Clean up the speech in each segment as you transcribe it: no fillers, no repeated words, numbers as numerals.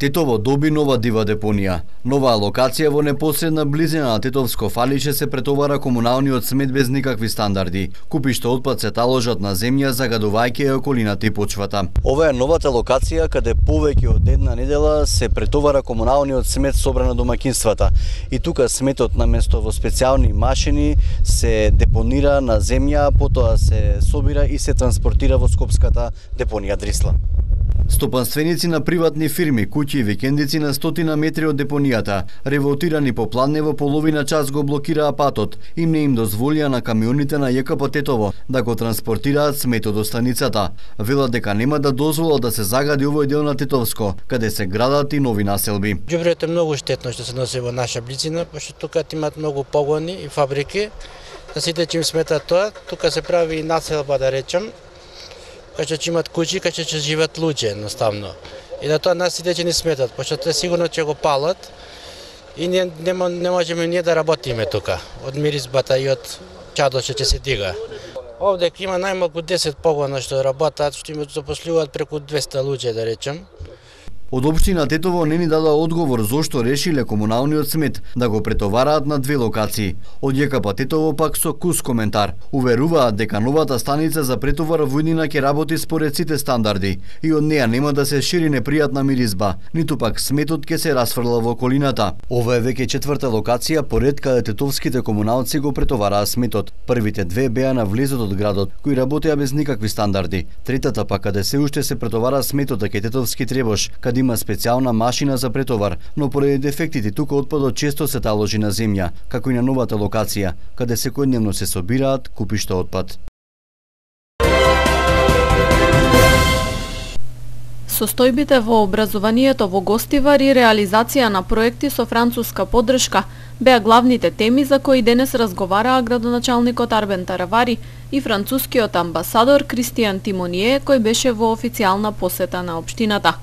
Тетово доби нова дива депонија. Нова локација во непосредна близина на Тетовско фалище се претовара комуналниот смет без никакви стандарди. Купиште отпад се таложат на земја, загадувајќи околината и почвата. Ова е новата локација каде повеќе од една недела се претовара комуналниот смет собран на домаќинствата. И тука сметот наместо во специјални машини се депонира на земја, потоа се собира и се транспортира во скопската депонија Дрисла. Стопанственици на приватни фирми, куќи и викендици на стотина метри од депонијата, револтирани попладне во половина час го блокираа патот и не им дозволија на камионите на ЈКП Тетово да го транспортираат сметот до станицата. Велат дека нема да дозволат да се загади овој дел на Тетовско, каде се градат и нови населби. Ѓубрето е многу штетно што се носи во наша близина, пошто тука имаат многу погони и фабрики. Да сите че им смета тоа, тука се прави и населба, да речем, кај што имат куќи, кај што живеат луѓе едноставно. И на тоа нас сите че не сметат, пошто те сигурно ќе го палат и не можеме ние да работиме тука, од миризбата и од чадот што ќе се дига. Овде има најмалку 10 погона што работат, што им запослуваат преку 200 луѓе, да речем. Од општина Тетово не ни дадоа одговор зошто решиле комуналниот смет да го претовараат на две локации. Од ЈКП Тетово пак со кус коментар. Уверуваат дека новата станица за претовар во иднина ќе работи според сите стандарди и од неа нема да се шири непријатна миризба, ниту пак сметот ќе се расфрла во околината. Ова е веќе четврта локација поред каде тетовските комуналци го претовараа сметот. Првите две беа на влезот од градот, кои работеа без никакви стандарди. Третата пак каде се уште се претовара сметот кај Тетовски Требош, каде има специјална машина за претовар, но поради дефектите тука отпадот често се таложи на земја, како и на новата локација, каде секојдневно се собираат купишта отпад. Состојбите во образованието во Гостивар и реализација на проекти со француска поддршка беа главните теми за кои денес разговараа градоначалникот Арбен Таравари и францускиот амбасадор Кристијан Тимоние, кој беше во официјална посета на општината.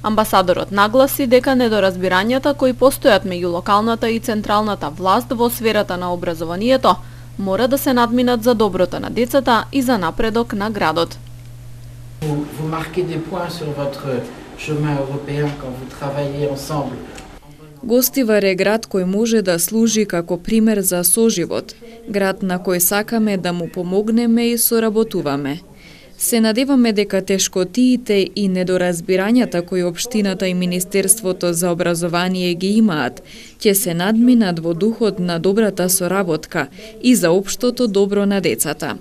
Амбасадорот нагласи дека недоразбирањата кои постојат меѓу локалната и централната власт во сферата на образованието мора да се надминат за доброто на децата и за напредок на градот. Vous marquez des points sur votre chemin européen quand vous travaillez ensemble. Гостивар е град кој може да служи како пример за соживот, град на кој сакаме да му помогнеме и соработуваме. Се надеваме дека тешкотиите и недоразбирањата кои општината и Министерството за образование ги имаат, ќе се надминат во духот на добрата соработка и за општото добро на децата.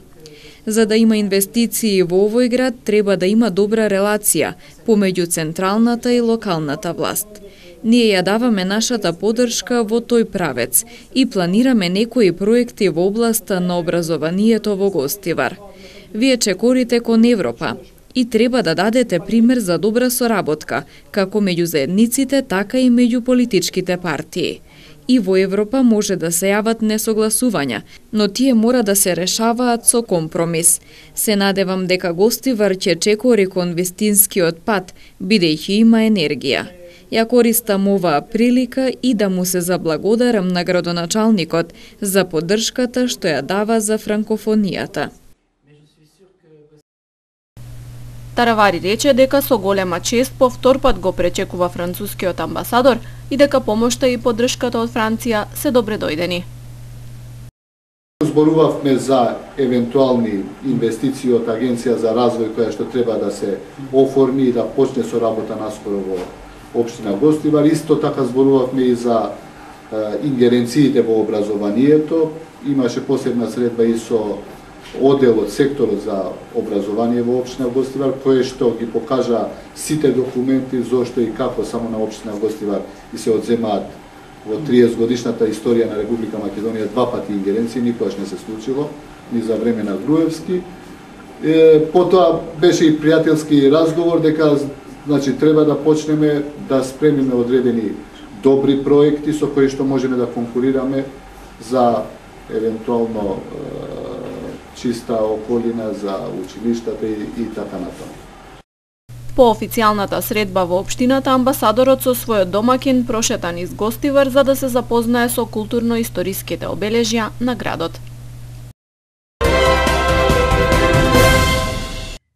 За да има инвестиции во овој град, треба да има добра релација помеѓу централната и локалната власт. Ние ја даваме нашата поддршка во тој правец и планираме некои проекти во областа на образованието во Гостивар. Вие чекорите кон Европа и треба да дадете пример за добра соработка, како меѓу заедниците, така и меѓу политичките партии. И во Европа може да се јават несогласувања, но тие мора да се решаваат со компромис. Се надевам дека Гостивар ќе чекори кон вистинскиот пат, бидејќи има енергија. Ја користам оваа прилика и да му се заблагодарам на градоначалникот за поддршката што ја дава за франкофонијата. Таравари рече дека со голема чест по втор пат го пречекува францускиот амбасадор и дека помошта и поддршката од Франција се добре дојдени. Зборувавме за евентуални инвестиции од Агенција за развој која што треба да се оформи и да почне со работа наскоро во општина Гостивар. Исто така зборувавме и за ингеренциите во образованието. Имаше посебна средба и со оделот, секторот за образование во општина Гостивар, кој што ги покажа сите документи зошто и како само на општина Гостивар и се одземаат во 30 годишната историја на Република Македонија два пати ингеренции, никогаш не се случило, ни за време на Груевски. Потоа беше и пријателски разговор дека значи треба да почнеме да спремиме одредени добри проекти со кои што можеме да конкурираме за евентуално чиста околина за училиштата и така натаму. По официјалната средба во општината, амбасадорот со својот домаќин прошета низ Гостивар за да се запознае со културно-историските обележја на градот.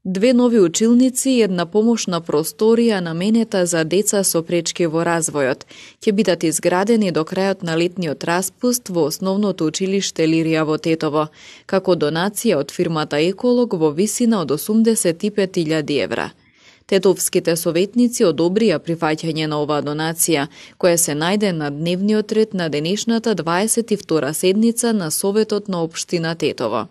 2 нови училници и една помошна просторија наменета за деца со пречки во развојот ќе бидат изградени до крајот на летниот распуст во основното училиште Лирија во Тетово, како донација од фирмата Еколог во висина од 85.000 евра. Тетовските советници одобрија прифаќање на оваа донација, која се најде на дневниот ред на денешната 22 седница на Советот на општина Тетово.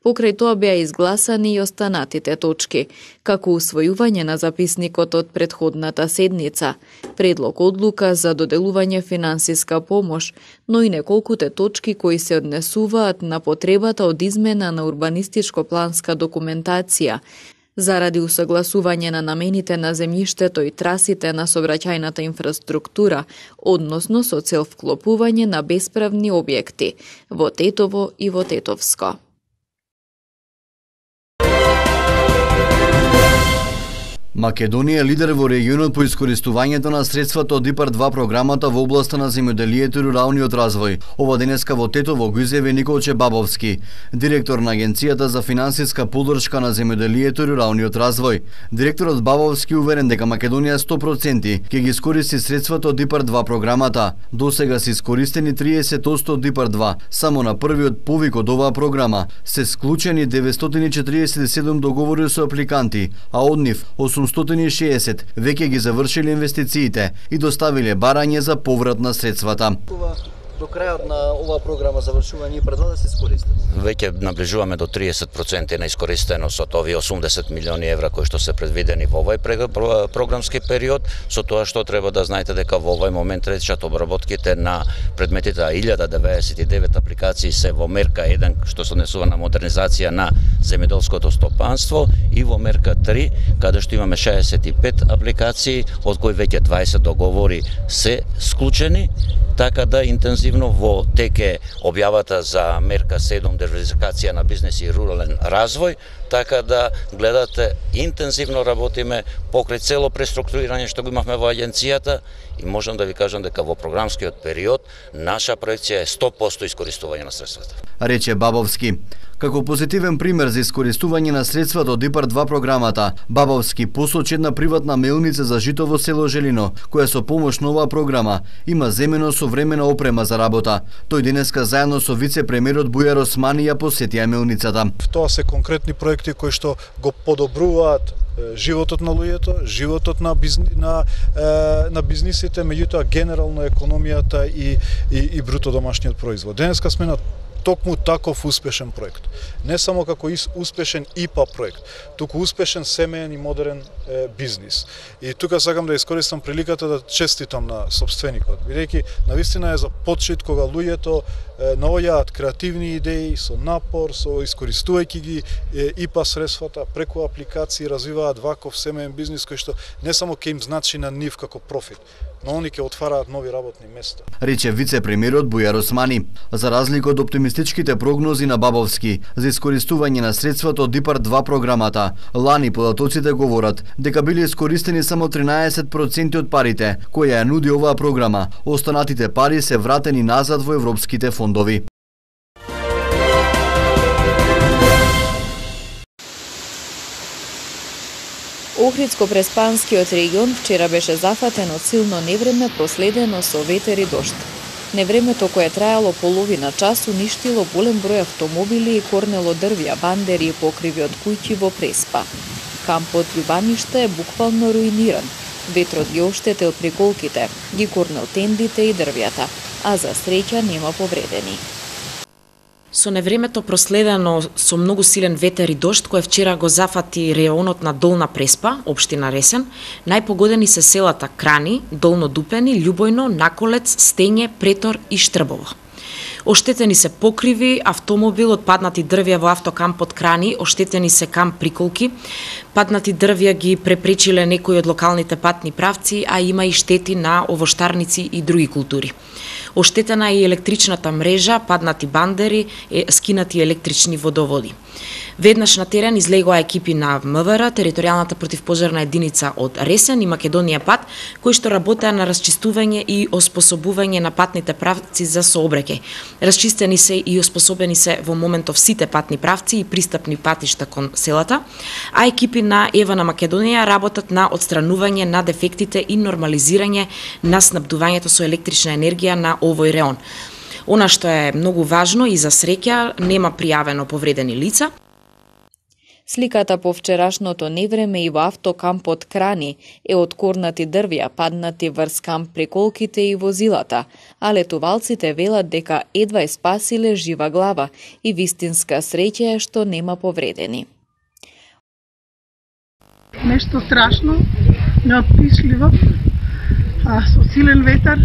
Покрај тоа беа изгласани и останатите точки, како усвојување на записникот од претходната седница, предлог одлука за доделување финансиска помош, но и неколкуте точки кои се однесуваат на потребата од измена на урбанистичко-планска документација, заради усогласување на намените на земјиштето и трасите на сообраќајната инфраструктура, односно со цел вклопување на бесправни објекти во Тетово и во Тетовско. Македонија е лидер во регионот по искористувањето на средствата од ИПАР-2 програмата во областа на земјоделието и руралниот развој. Ова денеска во Тетово го изјави Николче Бабовски, директор на Агенцијата за финансиска поддршка на земјоделието и руралниот развој. Директорот Бабовски уверен дека Македонија 100% ќе ги искористи средствата од ИПАР-2 програмата. Досега се искористени 30% од ИПАР-2. Само на првиот повик од оваа програма се склучени 947 договори со апликанти, а од нив 860 веќе ги завршиле инвестициите и доставиле барање за поврат на средствата. До крајот на оваа програма завршување ИПАР-2 да се искористат? Веќе наближуваме до 30% на искористеност од овие 80 милиони евра кои што се предвидени во овој програмски период, со тоа што треба да знаете дека во овој момент течат обработките на предметите 1099 апликации се во мерка 1 што се однесува на модернизација на земјоделското стопанство и во мерка 3 каде што имаме 65 апликации од кои веќе 20 договори се склучени, така да интензивно во теке објавата за мерка 7 диверзификација на бизнес и рурален развој, така да гледате интензивно работиме покрај цело преструктурирање што го имавме во агенцијата и можам да ви кажам дека во програмскиот период наша проекција е 100% искористување на средствата. Рече Бабовски. Како позитивен пример за искористување на средствата од ИПАР-2 програмата, Бабовски посочи една приватна мелница за жито во село Желино, која со помош на оваа програма има земено современа опрема за работа. Тој денеска заедно со вице-премиерот Бујар Османи ја посетија мелницата. Тоа се конкретни проекти кои што го подобруваат животот на луѓето, животот на бизнисите, меѓутоа генерално економијата и бруто домашниот производ. Денеска сме на токму таков успешен проект. Не само како успешен ИПА проект, туку успешен семеен и модерен бизнис. И тука сакам да искористам приликата да честитам на сопственикот, бидејќи навистина е за почит кога луѓето наоѓаат креативни идеи со напор, со искористувајќи ги ИПА средствата преку апликации развиваат ваков семеен бизнис кој што не само ќе им значи на нив како профит, но они ќе отвараат нови работни места. Рече вице-премиерот Бујар Османи. За разлика од оптимистичките прогнози на Бабовски за искористување на средствата од ИПАР-2 програмата, лани податоците говорат дека биле искористени само 13% од парите кои ја нуди оваа програма. Останатите пари се вратени назад во европските фондови. Охридско-Преспанскиот регион вчера беше зафатен од силно невреме проследено со ветер и дожд. Невремето кое трајало половина час уништило голем број автомобили и корнело дрвја, бандери и покриви од куќи во Преспа. Кампот Љубаниште е буквално руиниран. Ветрот ги оштетил приколките, ги корнел тендите и дрвјата, а за среќа нема повредени. Со невремето проследено со многу силен ветер и дожд кој вчера го зафати реонот на Долна Преспа, општина Ресен, најпогодени се селата Крани, Долно Дупени, Љубојно, Наколец, Стење, Претор и Штрбово. Оштетени се покриви, автомобил, отпаднати дрвја во автокампот Крани, оштетени се камп Приколки, паднати дрвја ги препречиле некои од локалните патни правци, а има и штети на овоштарници и други култури. Оштетена е и електричната мрежа, паднати бандери, скинати електрични водоводи. Веднаш на терен излегоа екипи на МВР, територијалната противпожарна единица од Ресен и Македонија пат, кои што работеа на расчистување и оспособување на патните правци за сообраќај. Расчистени се и оспособени се во моментов сите патни правци и пристапни патишта кон селата, а екипи на ЕВА на Македонија работат на отстранување на дефектите и нормализирање на снабдувањето со електрична енергија на овој реон. Она што е многу важно и за среќа, нема пријавено повредени лица. Сликата по вчерашното невреме и во автокампот Крани е од корнати дрвја паднати врз камп приколките и возилата, а летувалците велат дека едва спасиле жива глава и вистинска среќа е што нема повредени. Нешто страшно, неопишливо, со силен ветар,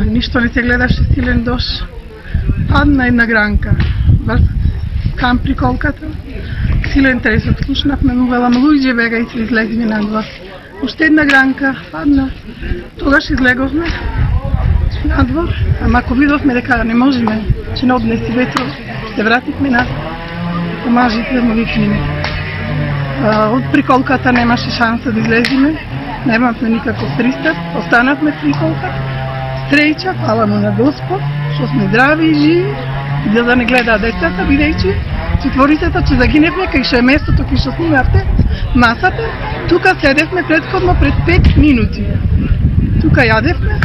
ништо не се гледаше, силен дош, падна една гранка врз камп приколката, силен тресок, слушнавме велам луѓе бега и се излезме надвор. Уште една гранка падна, тогаш излеговме надвор, ама ако видовме дека не можеме, че не однеси ветро, се вративме назад, помажите да му викнеме. Од приколката немаше шанса да излезиме, немавме никаков пристап, останавме приколката, среќа, фала му на Господ, што сме здрави и живи, и да не гледаат децата, бидејќи четворицата че загиневме кај што е местото кај што снимавте масата, тука седевме претходно пред 5 минути. Тука јадевме.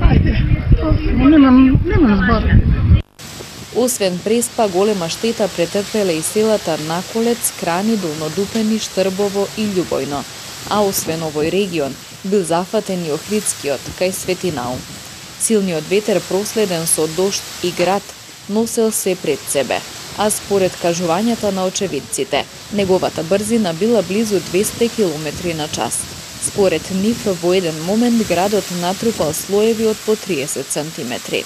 Ајде, немам збор. Освен преспа, голема штета претрпеле и селата Наколец, Крани, Долнодупени, Штрбово и Љубојно. А освен овој регион, бил зафатен и Охридскиот, кај Свети Наум. Силниот ветер проследен со дожд и град носел се пред себе, а според кажувањата на очевидците, неговата брзина била близу 200 км на час. Според нив, во еден момент градот натрупал слоеви од по 30 сантиметри.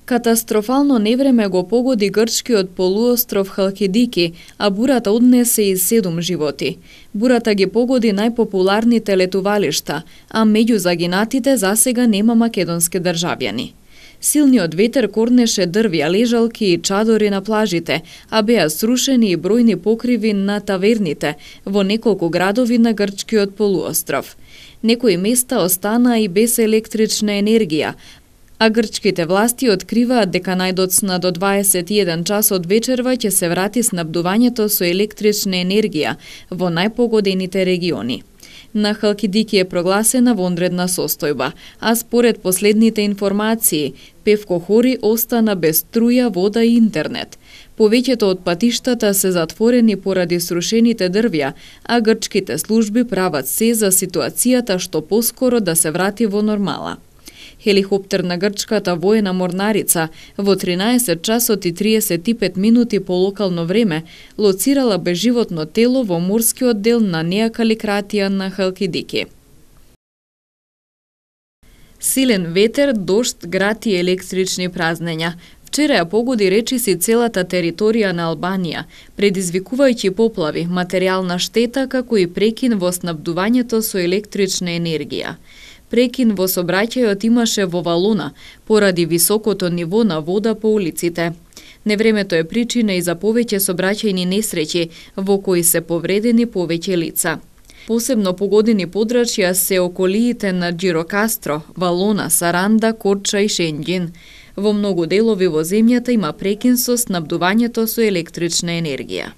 Катастрофално невреме го погоди грчкиот полуостров Халкидики, а бурата однесе и 7 животи. Бурата ги погоди најпопуларните летувалишта, а меѓу загинатите засега нема македонски државјани. Силниот ветер корнеше дрвја, лежалки и чадори на плажите, а беа срушени и бројни покриви на таверните во неколку градови на грчкиот полуостров. Некои места останаа и без електрична енергија, а грчките власти откриваат дека најдоцна до 21 час од вечерва ќе се врати снабдувањето со електрична енергија во најпогодените региони. На Халкидики е прогласена вонредна состојба, а според последните информации, Певко Хори остана без струја, вода и интернет. Повеќето од патиштата се затворени поради срушените дрвја, а грчките служби прават се за ситуацијата што поскоро да се врати во нормала. Хеликоптер на грчката воена морнарица во 13 часот и 35 минути по локално време лоцирала безживотно тело во морскиот дел на Неа Каликратија на Халкидики. Силен ветер, дожд, град и електрични празнења. Вчера ја погоди речиси целата територија на Албанија, предизвикувајќи поплави, материјална штета како и прекин во снабдувањето со електрична енергија. Прекин во сообраќајот имаше во Валона, поради високото ниво на вода по улиците. Невремето е причина и за повеќе сообраќајни несреќи, во кои се повредени повеќе лица. Посебно погодени подрачја се околиите на Џирокастро, Валона, Саранда, Корча и Шенџин. Во многу делови во земјата има прекин со снабдувањето со електрична енергија.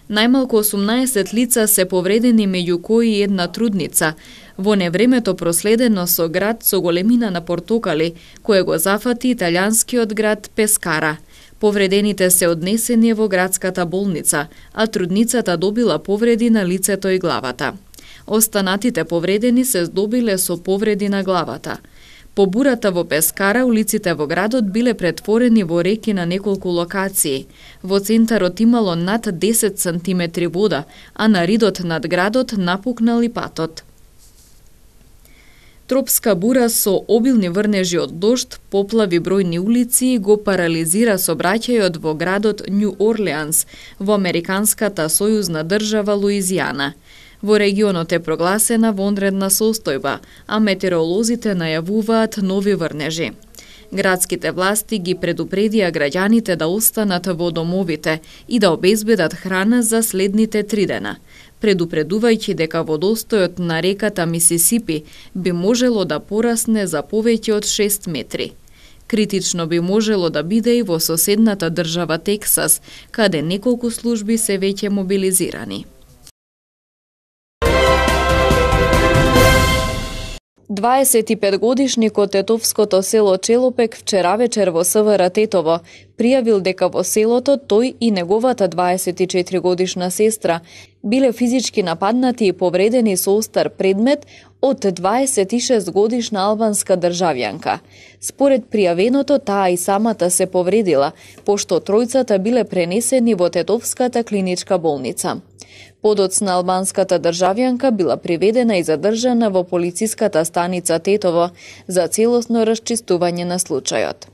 Најмалку 18 лица се повредени, меѓу кои една трудница, во невремето проследено со град со големина на портокали, кој го зафати италијанскиот град Пескара. Повредените се однесени во градската болница, а трудницата добила повреди на лицето и главата. Останатите повредени се здобиле со повреди на главата. По бурата во Пескара, улиците во градот биле претворени во реки на неколку локации. Во центарот имало над 10 сантиметри вода, а на ридот над градот напукнал и патот. Тропска бура со обилни врнежи од дожд, поплави бројни улици и го парализира сообраќајот во градот Њу Орлеанс во американската сојузна држава Луизијана. Во регионот е прогласена вонредна состојба, а метеоролозите најавуваат нови врнежи. Градските власти ги предупредија граѓаните да останат во домовите и да обезбедат храна за следните 3 дена, предупредувајќи дека водостојот на реката Мисисипи би можело да порасне за повеќе од 6 метри. Критично би можело да биде и во соседната држава Тексас, каде неколку служби се веќе мобилизирани. 25-годишникот тетовското село Челопек вчера вечер во СВР Тетово пријавил дека во селото тој и неговата 24-годишна сестра биле физички нападнати и повредени со остар предмет од 26-годишна албанска државјанка. Според пријавеното, таа и самата се повредила, пошто тројцата биле пренесени во Тетовската клиничка болница. Подоцна албанската државјанка била приведена и задржана во полициската станица Тетово за целосно расчистување на случајот.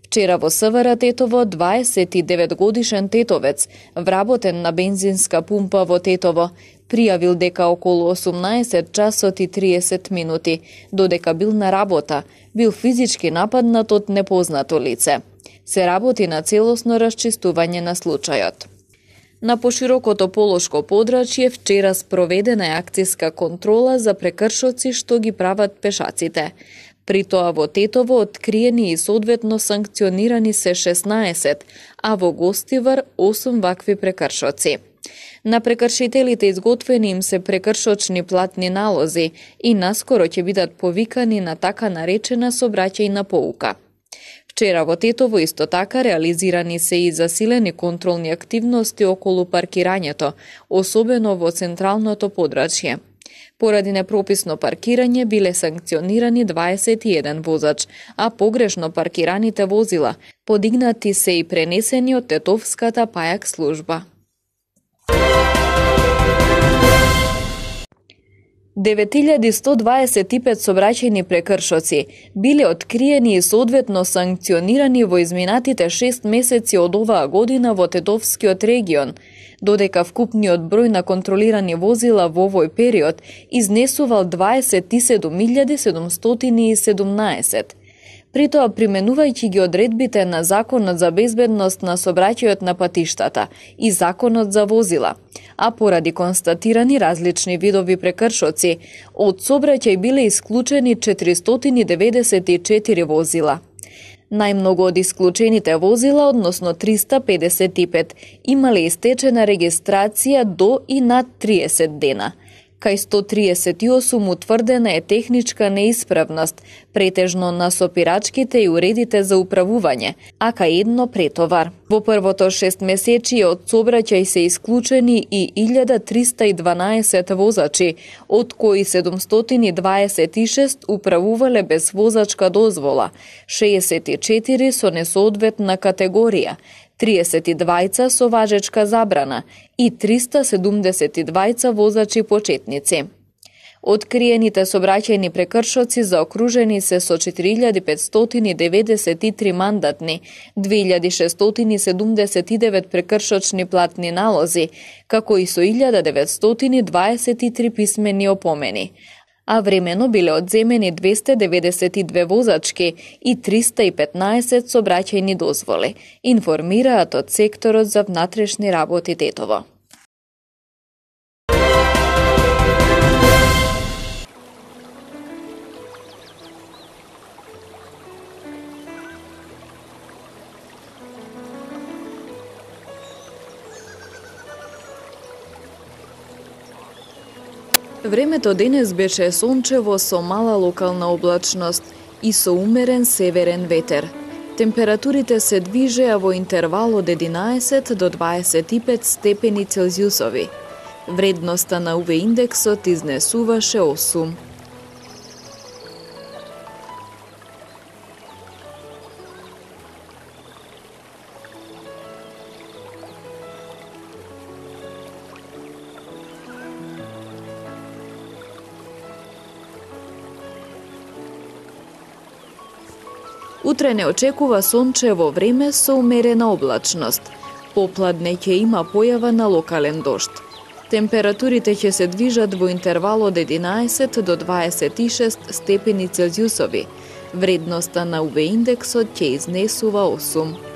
Вчера во СВР Тетово 29-годишен тетовец, вработен на бензинска пумпа во Тетово, пријавил дека околу 18 часот и 30 минути, додека бил на работа, бил физички нападнат од непознато лице. Се работи на целосно расчистување на случајот. На поширокото полошко подрачје вчера спроведена е акцијска контрола за прекршоци што ги прават пешаците. При тоа во Тетово откриени и соодветно санкционирани се 16, а во Гостивар 8 вакви прекршоци. На прекршителите изготвени им се прекршочни платни налози и наскоро ќе бидат повикани на така наречена сообраќајна поука. Вчера во Тетово исто така реализирани се и засилени контролни активности околу паркирањето, особено во централното подрачје. Поради непрописно паркирање биле санкционирани 21 возач, а погрешно паркираните возила подигнати се и пренесени од Тетовската пајак служба. 9125 сообраќајни прекршоци биле откриени и соодветно санкционирани во изминатите 6 месеци од оваа година во Тетовскиот регион, додека вкупниот број на контролирани возила во овој период изнесувал 27717. При тоа, применувајќи ги одредбите на Законот за безбедност на сообраќајот на патиштата и Законот за возила, а поради констатирани различни видови прекршоци, од сообраќај биле исклучени 494 возила. Најмногу од исклучените возила, односно 355, имале истечена регистрација до и над 30 дена. Кај 138 утврдена е техничка неисправност, претежно на сопирачките и уредите за управување, а кај едно претовар. Во првото 6 месечи од сообраќај се исклучени и 1312 возачи, од кои 726 управувале без возачка дозвола, 64 со несоодветна категорија, 32 со важечка забрана и 372 возачи почетници. Откриените сообраќајни прекршоци заокружени се со 4593 мандатни, 2679 прекршочни платни налози, како и со 1923 писмени опомени. А времено биле одземени 292 возачки и 315 сообраќајни дозволи, информираат од секторот за внатрешни работи Тетово. Времето денес беше сончево со мала локална облачност и со умерен северен ветер. Температурите се движеа во интервал од 11 до 25 степени Целзиусови. Вредноста на УВ индексот изнесуваше 8. Утре не очекува сончево време со умерена облачност. Попладне ќе има појава на локален дожд. Температурите ќе се движат во интервал од 11 до 26 степени Целзиусови. Вредноста на UV индексот ќе изнесува 8.